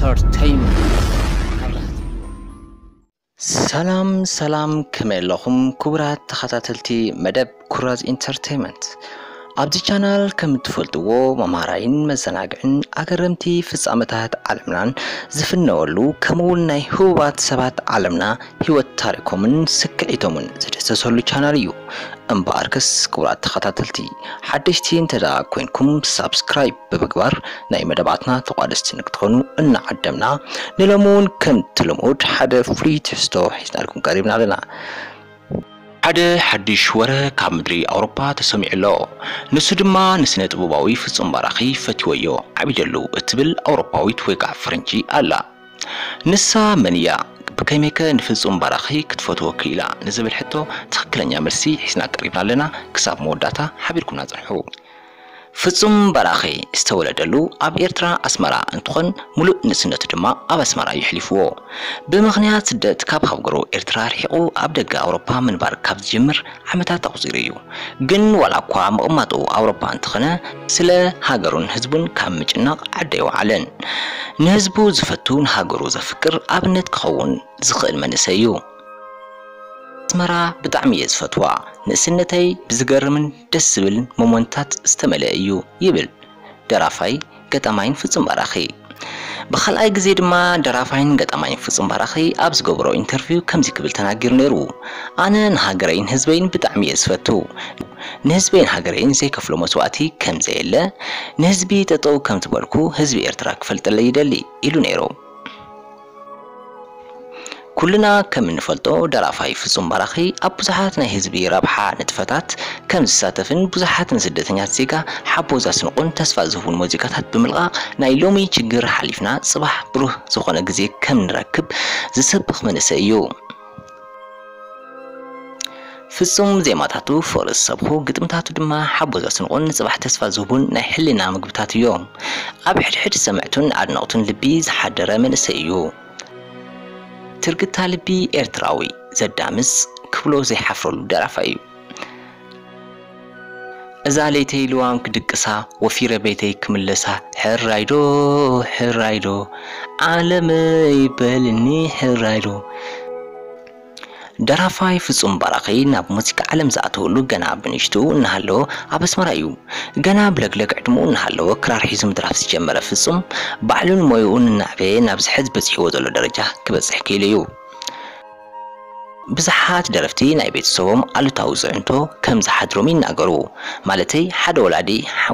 ኢንተርቴይንመንት። ሰላም ሰላም፣ ከመይ ኣለኹም ክቡራት ተኸታተልቲ መደብ ኩራዝ ኢንተርቴይንመንት? ኣብዚ ቻናል ከም እትፈልጥዎ መምሃራይን መዘናግዕን ኣገረምቲ ፍጻመታት ዓለምናን ዝፍነወሉ፣ ከምኡ እውን ናይ ህቡባት ሰባት ዓለምና ህይወት ታሪኮምን ስክዒቶምን ዝድህሰሰሉ ቻናል እዩ። እምበኣርከስ ክቡራት ተኸታተልቲ፣ ሓደሽቲ እንተ ደኣ ኮይንኩም ሳብስክራይብ ብምግባር ናይ መደባትና ተቋደስቲ ንክትኾኑ እናዓደምና፣ ንሎሚ እውን ከምቲ ልሙድ ሓደ ፍሉይ ትሕዝቶ ሒዝናልኩም ቀሪብና ኣለና። ሓደ ሓድሽ ወረ ካብ ምድሪ ኣውሮፓ ተሰሚዑ ኣሎ። ንሱ ድማ ንስነ ጥበባዊ ፍጹም ባራኺ ፈትወዮ ዓቢደሉ እትብል ኣውሮፓዊት ወይ ከዓ ፈረንጂ ኣላ። ንሳ መን እያ? ብከመይከ ንፍጹም ባራኺ ክትፈትዎ ክኢላ ንዝብል ሕቶ ትኽክለኛ መልሲ ሒዝና ቀሪብና ኣለና። ክሳብ መወዳእታ ሓቢርኩምና ጽንሑ። ፍጹም ባራኺ ዝተወለደሉ ኣብ ኤርትራ ኣስመራ እንትኾን፣ ሙሉእ ንእስነቱ ድማ ኣብ ኣስመራ እዩ ኣሕሊፍዎ። ብምኽንያት ስደት ካብ ሃገሩ ኤርትራ ርሒቑ ኣብ ደገ ኣውሮፓ ምንባር ካብ ዝጅምር ዓመታት ኣቑጺሩ እዩ። ግን ዋላ እኳ ምቕማጡ ኣውሮፓ እንተኾነ፣ ስለ ሃገሩን ህዝቡን ካብ ምጭናቕ ዓዲ ኣይወዓለን። ንህዝቡ ዝፈቱ፣ ንሃገሩ ዘፍቅር ኣብነት ክኸውን ዝኽእል መንእሰይ እዩ። ኣስመራ ብጣዕሚ እየ ዝፈትዋ። ንእስነተይ ብዝገርምን ደስ ዝብል ሞመንታት ዝተመልአ እዩ ይብል ደራፋይ ገጣማይን ፍጹም ባራኺ። ብኻልኣይ ግዜ ድማ ደራፋይን ገጣማይን ፍጹም ባራኺ ኣብ ዝገበሮ ኢንተርቪው ከምዚ ክብል ተናጊሩ ነይሩ። ኣነ ንሃገረይን ህዝበይን ብጣዕሚ እየ ዝፈቱ። ንህዝበይን ሃገረይን ዘይከፍሎ መስዋእቲ ከም ዘየለ፣ ንህዝቢ ጠጠው ከም ዝበልኩ ህዝቢ ኤርትራ ክፈልጠለይ ይደሊ ኢሉ ነይሩ። ኩልና ከም እንፈልጦ ደራፋይ ፍጹም ባራኺ ኣብ ብዙሓት ናይ ህዝቢ ረብሓ ንጥፈታት ከም ዝሳተፍን ብዙሓት ንስደተኛት ዜጋ ሓቦ ዘስንቑን ተስፋ ዝህቡን ሙዚቃታት ብምልቓቕ ናይ ሎሚ ችግር ሓሊፍና ጽባሕ ብሩህ ዝኾነ ግዜ ከም ንረክብ ዝሰብኽ መንእሰይ እዩ። ፍጹም ዜማታቱ ፍቕሪ ዝሰብኹ፣ ግጥምታቱ ድማ ሓቦ ዘስንቑን ንጽባሕ ተስፋ ዝህቡን ናይ ሕልና ምግብታት እዮም። ኣብ ሕድሕድ ሰምዕቱን ኣድነቕቱን ልቢ ዝሓደረ መንእሰይ እዩ። ትርግታ ልቢ ኤርትራዊ ዘዳምጽ ክብሎ ዘይሓፍረሉ ደራፋይ እዩ። እዛ ለይተይ ልዋም ክድቅሳ፣ ወፊረ ቤተይ ክምለሳ፣ ሕራይዶ፣ ሕራይዶ፣ ዓለመይ በልኒ ሕራይዶ። ደራፋይ ፍጹም ባራኺ ናብ ሙዚቃ ዓለም ዝኣተወሉ ገና ብንእሽትኡ እናሃለወ ኣብ ኣስመራ እዩ። ገና ብለግለግ ዕድመኡ እናሃለወ ክራር ሒዙ ምድራፍ ዝጀመረ ፍጹም፣ ባዕሉን ሞያኡን እናዕበየ ናብዚ ሕዚ በጺሕዎ ዘሎ ደረጃ ክበጽሕ ክኢሉ እዩ። ብዙሓት ደረፍቲ ናይ ቤተሰቦም ኣሉታዊ ጽዕንቶ ከም ዝሓድሮም ይናገሩ። ማለተይ፣ ሓደ ወላዲ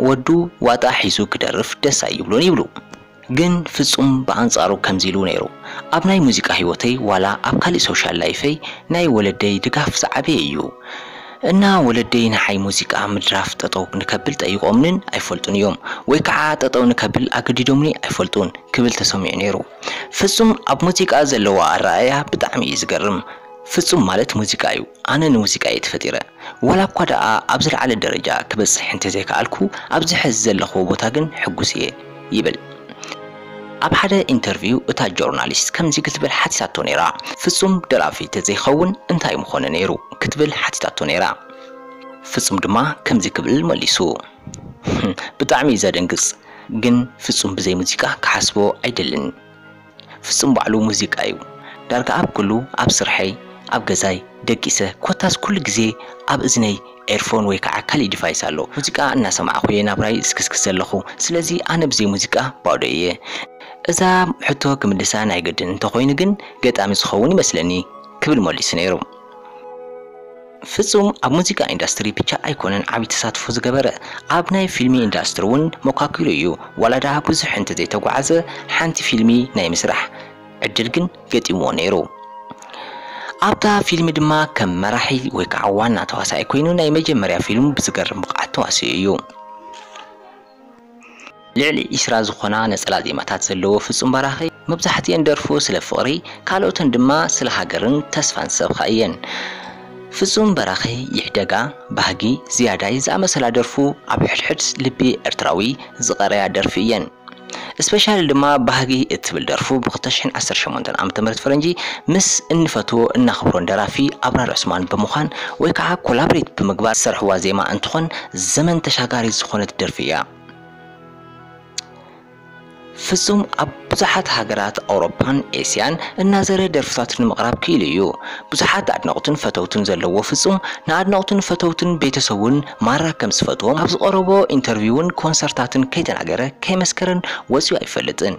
ወዱ ዋጣ ሒዙ ክደርፍ ደስ ኣይብሎን ይብሉ። ግን ፍጹም ብኣንጻሩ ከምዚ ኢሉ ነይሩ፣ ኣብ ናይ ሙዚቃ ህይወተይ ዋላ ኣብ ካሊእ ሶሻል ላይፈይ ናይ ወለደይ ድጋፍ ዝዓበየ እዩ። እና ወለደይ ንዓይ ሙዚቃ ምድራፍ ጠጠው ንከብል ጠይቖምንን ኣይፈልጡን እዮም፣ ወይ ከዓ ጠጠው ንከብል ኣገዲዶምኒ ኣይፈልጡን ክብል ተሰሚዑ ነይሩ። ፍጹም ኣብ ሙዚቃ ዘለዎ ኣረኣእያ ብጣዕሚ እዩ ዝገርም። ፍጹም ማለት ሙዚቃ እዩ። ኣነ ንሙዚቃ እየ ተፈጢረ። ዋላ እኳ ደኣ ኣብ ዝለዓለ ደረጃ ክበጽሕ እንተዘይከኣልኩ፣ ኣብዚ ሕዚ ዘለኽዎ ቦታ ግን ሕጉስ እየ ይብል። ኣብ ሓደ ኢንተርቪው እታ ጆርናሊስት ከምዚ ክትብል ሓቲታቶ ነይራ፣ "ፍጹም ደራፊ ተዘይኸውን እንታይ ምኾነ ነይሩ?" ክትብል ሓቲታቶ ነይራ። ፍጹም ድማ ከምዚ ክብል መሊሱ፣ "ብጣዕሚ እዩ ዘደንግጽ፣ ግን ፍጹም ብዘይ ሙዚቃ ክሓስቦ ኣይደልን። ፍጹም ባዕሉ ሙዚቃ እዩ። ዳርጋ ኣብ ኩሉ፣ ኣብ ስርሐይ፣ ኣብ ገዛይ፣ ደቂሰ፣ ኮታስ ኩሉ ግዜ ኣብ እዝነይ ኤርፎን ወይ ከዓ ካሊእ ዲቫይስ ኣሎ። ሙዚቃ እናሰማዕኹ እየ ናብራይ ዝክስክስ ዘለኹ። ስለዚ ኣነ ብዘይ ሙዚቃ ባዶ እየ። እዛ ሕቶ ክምልሳ ናይ ግድን እንተኾይኑ ግን ገጣሚ ዝኸውን ይመስለኒ" ክብል መሊሱ ነይሩ። ፍጹም ኣብ ሙዚቃ ኢንዳስትሪ ብቻ ኣይኮነን ዓቢ ተሳትፎ ዝገበረ። ኣብ ናይ ፊልሚ ኢንዳስትሪ እውን መኳኪሉ እዩ። ዋላ ደኣ ብዙሕ እንተዘይተጓዓዘ፣ ሓንቲ ፊልሚ ናይ ምስራሕ ዕድል ግን ገጢምዎ ነይሩ። ኣብታ ፊልሚ ድማ ከም መራሒ ወይ ከዓ ዋና ተዋሳኣይ ኮይኑ ናይ መጀመርያ ፊልሙ ብዝገርም ብቕዓት ተዋሲኡ እዩ። ልዕሊ ዒስራ ዝኾና ነጸላ ዜማታት ዘለዎ ፍጹም በራኺ፣ መብዛሕትኤን ደርፉ ስለ ፍቕሪ፣ ካልኦተን ድማ ስለ ሃገርን ተስፋን ዝሰብኻ እየን። ፍጹም በራኺ፣ ይሕደጋ፣ ባህጊ፣ ዝያዳይ ዝኣመሰላ ደርፉ ኣብ ሕድሕድ ልቢ ኤርትራዊ ዝቐረያ ደርፊ እየን። ስፔሻሊ ድማ ባህጊ እትብል ደርፉ ብ ክልተ ሽሕን ዓሰርተ ሸሞንተን ዓመተ ምህረት ፈረንጂ ምስ እንፈትዎ እናኽብሮን ደራፊ ኣብራር ዑስማን ብምዃን ወይ ከዓ ኮላብሬት ብምግባር ዝሰርሕዋ ዜማ እንትኾን ዘመን ተሻጋሪት ዝኾነት ደርፊ እያ። ፍጹም ኣብ ብዙሓት ሃገራት ኣውሮፓን ኤስያን እናዘረ ደርፍታቱ ንምቕራብ ክኢሉ እዩ። ብዙሓት ኣድነቕቱን ፈተውቱን ዘለዎ ፍጹም፣ ንኣድነቕቱን ፈተውቱን ቤተሰቡን ማራ ከም ዝፈትዎም ኣብ ዝቐረቦ ኢንተርቪውን ኮንሰርታትን ከይተናገረ ከይመስከረን ወጺኡ ኣይፈልጥን።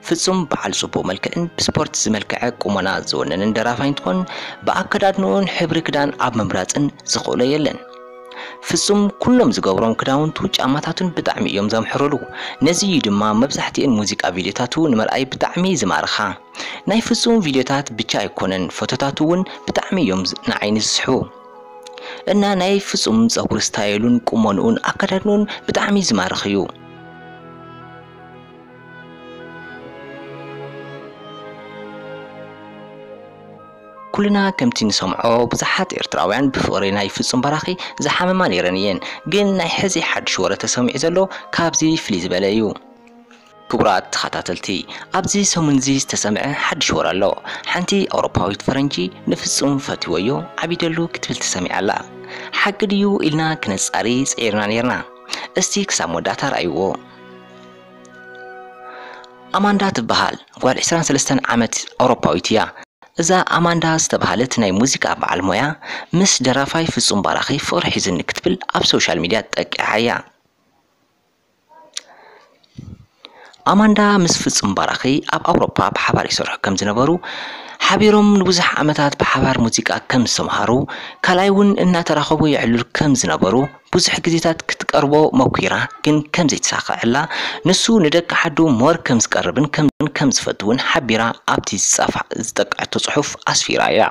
ፍጹም በዓል ጽቡቕ መልክዕን ብስፖርት ዝመልከዐ ቁመና ዝወነንን ደራፋይ እንትኾን፣ ብኣከዳድንኡን ሕብሪ ክዳን ኣብ ምምራጽን ዝኽእሎ የለን። ፍጹም ኩሎም ዝገብሮም ክዳውንቱ ጫማታቱን ብጣዕሚ እዮም ዘምሕሩሉ። ነዚ እዩ ድማ መብዛሕትኤን ሙዚቃ ቪድዮታቱ ንምርኣይ ብጣዕሚ ዝማርኻ። ናይ ፍጹም ቪድዮታት ብቻ ኣይኮነን፣ ፎቶታቱ እውን ብጣዕሚ እዮም ዝ- ንዓይኒ ዝስሕቡ። እና ናይ ፍጹም ጸጉሪ ስታይሉን ቁመንኡን ኣከዳድንኡን ብጣዕሚ ዝማርኽ እዩ። ኩልና ከምቲ ንሰምዖ ብዙሓት ኤርትራውያን ብፍቕሪ ናይ ፍጹም በራኺ ዝሓመማ ነይረን እየን። ግን ናይ ሕዚ ሓድሽ ወረ ተሰሚዑ ዘሎ ካብዚ ፍልይ ዝበለ እዩ። ክቡራት ተኸታተልቲ፣ ኣብዚ ሰሙን እዚ ዝተሰምዐ ሓድሽ ወረ ኣሎ። ሓንቲ ኣውሮፓዊት ፈረንጂ ንፍጹም ፈቲወዮ ዓቢደሉ ክትብል ተሰሚዓ ኣላ። ሓቂ ድዩ ኢልና ክነጻሪ ጽዒርና ነይርና። እስቲ ክሳብ መወዳእታ ረኣይዎ። ኣማንዳ ትበሃል ጓል ዕስራን ሰለስተን ዓመት ኣውሮፓዊት እያ። እዛ ኣማንዳ ዝተባህለት ናይ ሙዚቃ በዓል ሞያ ምስ ደራፋይ ፍጹም ባራኺ ፍቕሪ ሒዙኒ ክትብል ኣብ ሶሻል ሚድያ ጠቂዓ እያ። ኣማንዳ ምስ ፍጹም ባራኺ ኣብ ኣውሮፓ ብሓባር ይሰርሑ ከም ዝነበሩ ሓቢሮም ንብዙሕ ዓመታት ብሓባር ሙዚቃ ከም ዝተምሃሩ ካልኣይ እውን እናተራኸቡ የዕልሉ ከም ዝነበሩ ብዙሕ ግዜታት ክትቀርቦ መኲራ ግን ከም ዘይተሳኸዐላ ንሱ ንደቂ ዓዱ ሞር ከም ዝቀርብን ከም ከም ዝፈትውን ሓቢራ ኣብቲ ዝጻፋ ዝጠቀዐቶ ጽሑፍ ኣስፊራ እያ።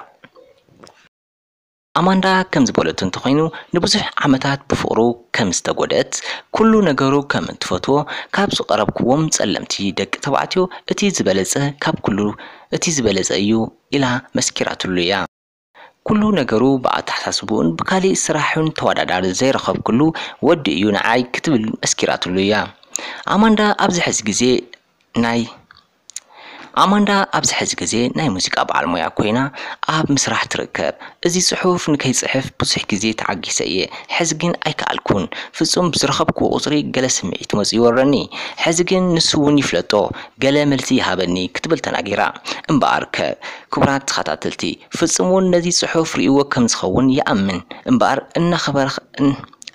ኣማንዳ ከም ዝበለቶ እንተኾይኑ ንብዙሕ ዓመታት ብፍቕሩ ከም ዝተጎደት ኩሉ ነገሩ ከም እንትፈትዎ ካብ ዝቐረብክዎም ጸለምቲ ደቂ ተባዕትዮ እቲ ዝበለጸ ካብ ኩሉ እቲ ዝበለጸ እዩ ኢላ መስኪራትሉ እያ። ኩሉ ነገሩ ብኣተሓሳስብኡን ብካሊእ ስራሕን ተወዳዳሪ ዘይረኸብክሉ ወዲ እዩ ንዓይ ክትብል መስኪራትሉ እያ። ኣማንዳ ኣብዚ ሕዚ ግዜ ናይ ኣማንዳ ኣብዚ ሕዚ ግዜ ናይ ሙዚቃ በዓል ሞያ ኮይና ኣብ ምስራሕ ትርከብ። እዚ ጽሑፍ ንከይጽሕፍ ብዙሕ ግዜ ተዓጊሰ እየ። ሕዚ ግን ኣይከኣልኩን። ፍጹም ብዝረኸብኩዎ ቁጽሪ ገለ ስምዒት መጺኡ ይወረኒ። ሕዚ ግን ንሱ እውን ይፍለጦ፣ ገለ መልሲ ይሃበኒ ክትብል ተናጊራ። እምበኣር ከ ክቡራት ተኸታተልቲ፣ ፍጹም እውን ነዚ ጽሑፍ ርእይዎ ከም ዝኸውን ይኣምን። እምበኣር እናኸበረ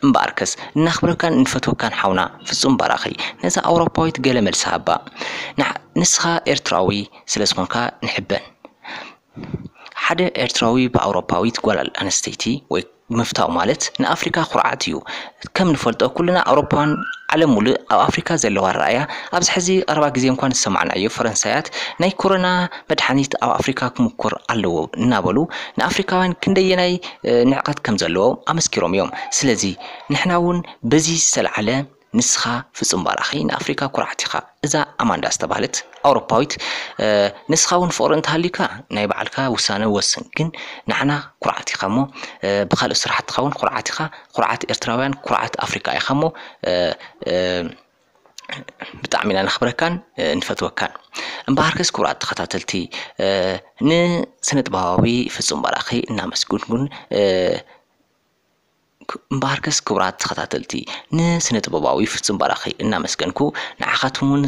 እምበኣርከስ እናኽብረካን እንፈትወካን ሓውና ፍጹም ባራኺ ነዛ ኣውሮፓዊት ገለ መልሲ ሃባ። ንስኻ ኤርትራዊ ስለ ዝኾንካ ንሕበን። ሓደ ኤርትራዊ ብኣውሮፓዊት ጓል ኣንስተይቲ ወይ ምፍታው ማለት ንኣፍሪካ ኩርዓት እዩ። ከም ንፈልጦ ኩልና ኣውሮፓን ዓለም ሙሉእ ኣብ ኣፍሪካ ዘለዋ ረኣያ ኣብዚ ሕዚ ቀረባ ግዜ እንኳን ዝሰማዕናዮ ፈረንሳያት ናይ ኮሮና መድሓኒት ኣብ ኣፍሪካ ክምኩር ኣለዎ እናበሉ ንኣፍሪካውያን ክንደየናይ ንዕቀት ከም ዘለዎ ኣመስኪሮም እዮም። ስለዚ ንሕና እውን በዚ ዝተለዓለ ንስኻ ፍጹም ባራኺ ንኣፍሪካ ኩርዓት ኢኻ። እዛ ኣማንዳ ዝተባህለት ኣውሮፓዊት ንስኻ እውን ፍቕሪ እንተሃልዩካ ናይ ባዕልካ ውሳነ ወስን፣ ግን ንዓና ኩርዓት ኢኻ እሞ ብካልእ ስራሕትኻ እውን ኩርዓት ኢኻ። ኩርዓት ኤርትራውያን ኩርዓት ኣፍሪካ ኢኻ እሞ ብጣዕሚ ኢና ነኽብረካን ንፈትወካን። እምበኣርከስ ክቡራት ተኸታተልቲ ንስነ ጥበባዊ ፍጹም ባራኺ እናመስግንኩን እምበኣርከስ ክቡራት ተኸታተልቲ ንስነ ጥበባዊ ፍጹም ባራኺ እናመስገንኩ ንዓኻትኩም እውን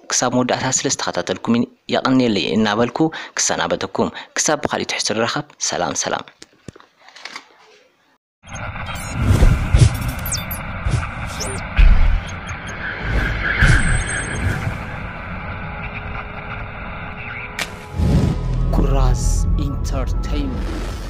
ክሳብ መወዳእታ ስለ ዝተኸታተልኩምን የቐንየለይ እናበልኩ ክሰናበተኩም። ክሳብ ብኻሊእ ትሕዝቶ ንራኸብ። ሰላም ሰላም። ኩራዝ ኢንተርቴይንመንት።